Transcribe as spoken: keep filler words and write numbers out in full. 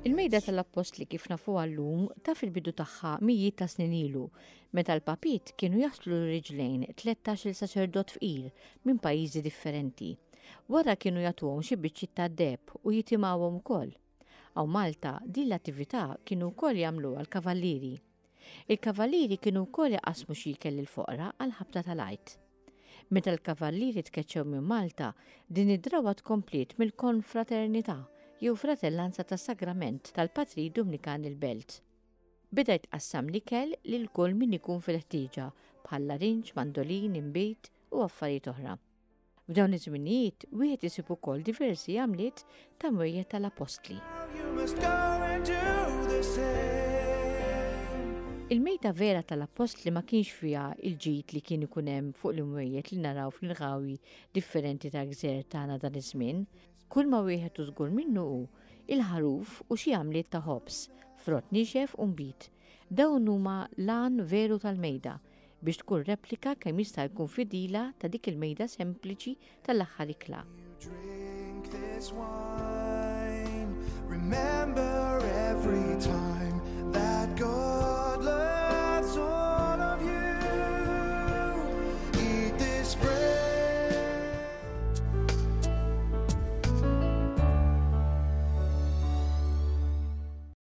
Il-mejda tal-Appostli kif nafuha llum taf il-bidu tagħha mijiet ta' snin ilu, meta l-papiet kienu jaħslu riġlejn tlettax-il saċerdot fqir minn pajjiżi differenti. Wara kienu jagħtuhom xi biċċiet ta' deheb u jitimgħuhom ukoll. Hawn Malta din l-attività kienu wkoll jagħmluha l-kavallieri. Il-kavallieri kienu wkoll jaqasmu xi ikel lill-foqra għall-ħabta tal-Għid. Meta l-kavallieri tkeċċew minn Malta, din id-drawwa tkompliet mill-konfraternità jew fratellanza tas-Sagrament tal-Patri Dumnikan il-Belt. Beda jitqassam l-ikel lil kull min ikun fil-ħtieġa bħal larinġ, mandolin, inbid u affarijiet oħra. F'dawn iż-żminijiet wieħed isib ukoll diversi għamliet ta' mwejjed tal-Appostli. Il-mejda vera tal-Appostli ma kienx fiha il-ġid li kien ikun hemm fuq l-imwejjed li naraw fl-inħawi differenti tal-gżejjer tagħna dan iż-żmien. Kull ma wieħed u żgur minnu hu il-ħaruf u xi għamliet ta' ħobż, frott niexef u nbid. Dawn huma l-għan veru tal-mejda biex tkun replika kemm jista' jkun fidila ta' dik il-mejda sempliċi tal-aħħar ikla. Drink this wine, remember every time that goes.